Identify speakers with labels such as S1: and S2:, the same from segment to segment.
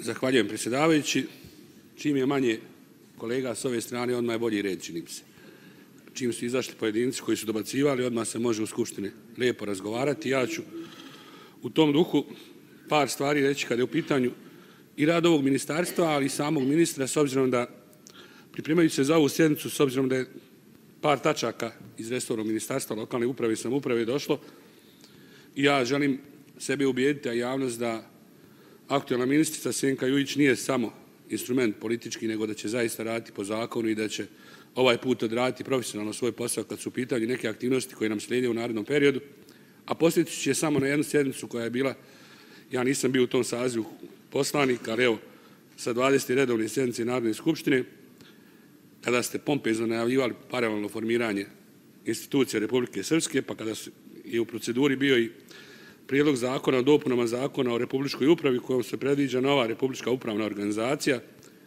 S1: Zahvaljujem predsjedavajući. Čim je manje kolega s ove strane, odmah je bolji red, čini mi se. Čim su izašli pojedinci koji su dobacivali, odmah se može u Skupštini lijepo razgovarati. Ja ću u tom duhu par stvari reći kada je u pitanju i rad ovog ministarstva, ali i samog ministra, s obzirom da pripremajući se za ovu sjednicu, s obzirom da je par tačaka iz resornog ministarstva lokalne uprave i samouprave došlo, ja želim sebe ubijediti, a javnost, da aktualna ministrica Senka Jujić nije samo instrument politički, nego da će zaista raditi po zakonu i da će ovaj put odraditi profesionalno svoj posao kad su u pitanju neke aktivnosti koje nam slijede u narednom periodu. A posjetit ću je samo na jednu sjednicu koja je bila, ja nisam bio u tom sazivu poslanik, ali evo, sa 20. redovne sjednice Narodne skupštine, kada ste pompezno najavljivali paralelno formiranje institucija Republike Srpske, pa kada je u proceduri bio i prijedlog zakona o dopunama zakona o Republičkoj upravi kojom se predviđa nova Republička upravna organizacija,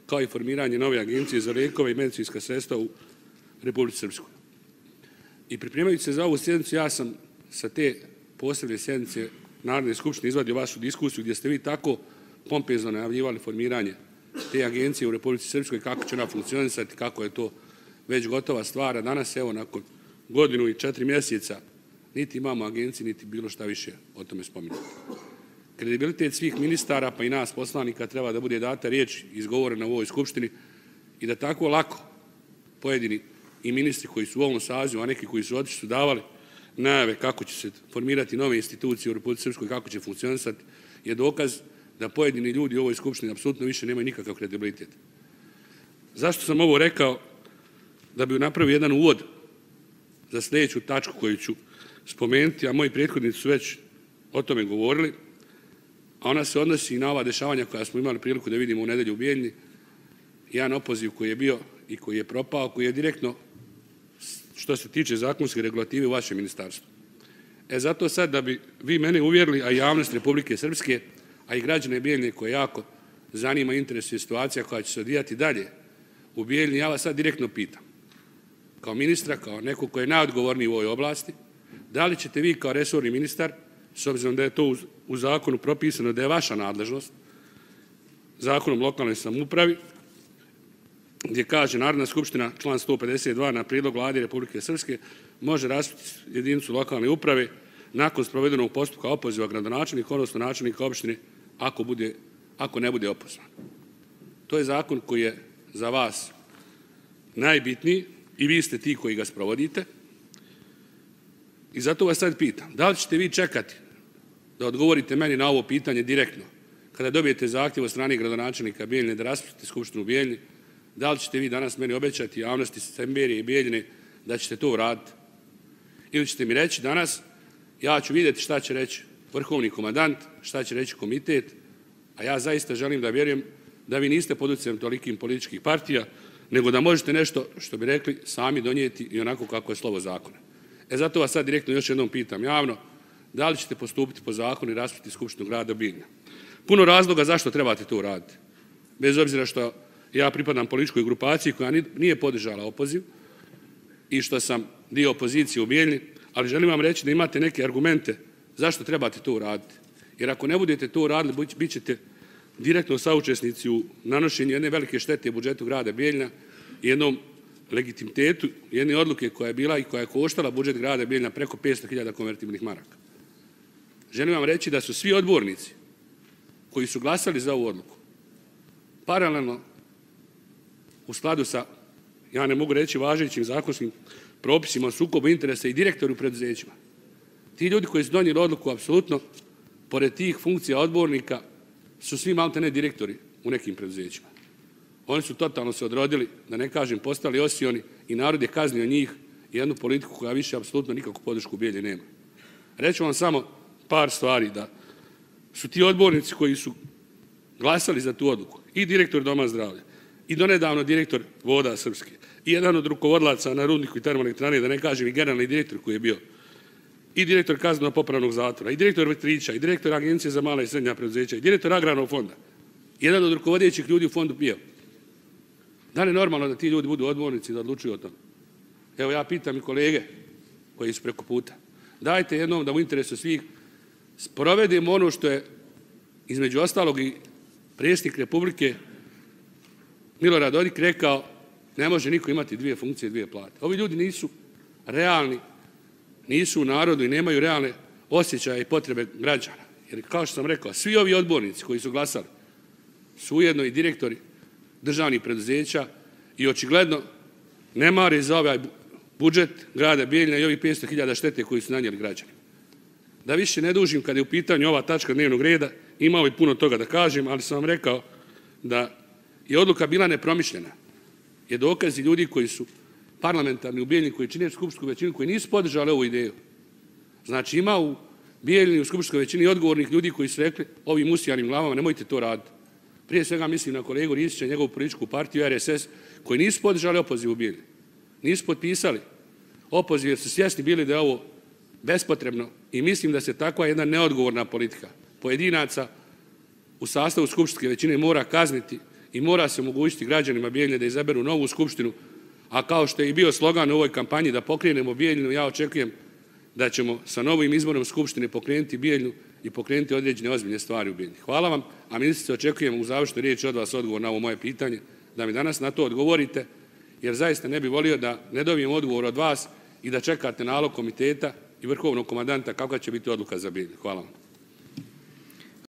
S1: kao i formiranje nove agencije za lijekove i medicinska sredstva u Republici Srpskoj. I pripremajući se za ovu sjednicu, ja sam sa te posebne sjednice Narodne skupštine izvadio vašu diskusiju gdje ste vi tako pompezno najavljivali formiranje te agencije u Republici Srpskoj, kako će ona funkcionisati, kako je to već gotova stvar. A danas, evo, nakon godinu i 4 mjeseca, niti imamo agenciji, niti bilo šta više o tome spominjati. Kredibilitet svih ministara, pa i nas poslanika, treba da bude data riječ izgovorena u ovoj skupštini i da tako lako pojedini i ministri koji su u ovom sazivu, a neki koji su otišli, su davali najave kako će se formirati nove institucije u Republici Srpskoj, kako će funkcionisati, je dokaz da pojedini ljudi u ovoj skupštini apsolutno više nemaju nikakav kredibilitet. Zašto sam ovo rekao? Da bi napravio jedan uvod za sljedeću tačku koju ću spomenuti, a moji prethodnici su već o tome govorili, a ona se odnosi i na ova dešavanja koja smo imali priliku da vidimo u nedjelju u Bijeljni, jedan opoziv koji je bio i koji je propao, koji je direktno, što se tiče zakonske regulative, u vašem ministarstvu. Zato sad, da bi vi mene uvjerili, a i javnost Republike Srpske, a i građane Bijeljne koje jako zanima i interesuje situacija koja će se odvijati dalje u Bijeljni, ja vas sad direktno pitam, kao ministra, kao neko koji je najodgovorniji u ovoj oblasti, da li ćete vi kao resorni ministar, s obzirom da je to u zakonu propisano da je vaša nadležnost, zakonom o lokalnoj samoupravi, gdje kaže Narodna skupština, član 152, na prijedlog Vlade Republike Srpske može raspustiti jedinicu lokalne uprave nakon sprovedenog postupka opoziva gradonačelnika, odnosno načelnika opštine, ako ne bude opozvan. To je zakon koji je za vas najbitniji i vi ste ti koji ga sprovodite. I zato vas sad pitam, da li ćete vi čekati da odgovorite meni na ovo pitanje direktno, kada dobijete zahtjev od strane gradonačelnika Bijeljne da raspustite skupštinu u Bijeljni, da li ćete vi danas meni obećati javnosti Semberije i Bijeljne da ćete to uraditi? Ili ćete mi reći danas, ja ću vidjeti šta će reći vrhovni komandant, šta će reći komitet, a ja zaista želim da vjerujem da vi niste pod utjecajem tolikim političkih partija, nego da možete nešto, što bi rekli, sami donijeti i onako kako je slovo zakona. Zato vas sad direktno još jednom pitam javno, da li ćete postupiti po zakonu i raspustiti skupštinu grada Bijeljna? Puno razloga zašto trebate to uraditi. Bez obzira što ja pripadam političkoj grupaciji koja nije podržala opoziv i što sam dio opozicije u Bijeljni, ali želim vam reći da imate neke argumente zašto trebate to uraditi. Jer ako ne budete to uradili, bit ćete direktno saučesnici u nanošenju jedne velike štete budžetu grada Bijeljna i jednom legitimitetu jedne odluke koja je bila i koja je koštala budžet grada Bijeljna preko 500.000 konvertibilnih maraka. Želim vam reći da su svi odbornici koji su glasali za ovu odluku paralelno u skladu sa, ja ne mogu reći, važećim zakonskim propisima o sukobu interesa i direktori u preduzećima. Ti ljudi koji su donijeli odluku, apsolutno, pored tih funkcija odbornika, su svi maltene direktori u nekim preduzećima. Oni su totalno se odrodili, da ne kažem, postali osioni i narod je kaznio njih i jednu politiku koja više apsolutno nikakvu podršku u Bijeljni nema. Reću vam samo par stvari, da su ti odbornici koji su glasali za tu odluku, i direktor Doma zdravlja, i donedavno direktor Voda Srpske, i jedan od rukovodilaca na rudniku i termoelektrane, da ne kažem i generalni direktor koji je bio, i direktor kazneno-popravnog zatvora, i direktor Vetrića, i direktor Agencije za mala i srednja preduzeća, i direktor Agrarnog fonda, jedan od rukovodećih ljudi u fondu PIO. Da li je normalno da ti ljudi budu odbornici da odlučuju o tome? Evo, ja pitam i kolege koji su preko puta. Dajte jednom da u interesu svih sprovedemo ono što je između ostalog i predsjednik Republike Milorad Dodik rekao ne može niko imati dvije funkcije, dvije plate. Ovi ljudi nisu realni, nisu u narodu i nemaju realne osjećaje i potrebe građana. Jer kao što sam rekao, svi ovi odbornici koji su glasali su ujedno i direktori državnih preduzeća i očigledno ne mare za ovaj budžet grada Bijeljina i ovih 500.000 štete koji su nanijeli građani. Da više ne dužim kada je u pitanju ova tačka dnevnog reda, imao bi puno toga da kažem, ali sam vam rekao da je odluka bila nepromišljena. Je dokazi ljudi koji su parlamentarni u Bijeljini, koji čine skupštinsku većinu, koji nisu podržali ovu ideju. Znači ima u Bijeljini u skupštinskoj većini odgovornih ljudi koji su rekli ovim usijanim glavama nemojte to raditi. Prije svega mislim na kolegu Ristića i njegovu političku partiju RSS koji nisu podržali opoziv u Bijeljini. Nisu potpisali opoziv jer su svjesni bili da je ovo bespotrebno i mislim da se takva jedna neodgovorna politika pojedinaca u sastavu skupštinske većine mora kazniti i mora se omogućiti građanima Bijeljine da izaberu novu skupštinu, a kao što je i bio slogan u ovoj kampanji da pokrenemo Bijeljinu, ja očekujem da ćemo sa novim izborom skupštine pokrenuti Bijeljinu i pokrenuti određene ozbiljne stvari u Bijeljini. Hvala vam, a ministrice očekujem u završnoj riječi od vas odgovor na ovo moje pitanje, da mi danas na to odgovorite, jer zaista ne bih volio da ne dobijem odgovor od vas i da čekate nalog komiteta i vrhovnog komandanta kakva će biti odluka za Bijeljinu. Hvala vam.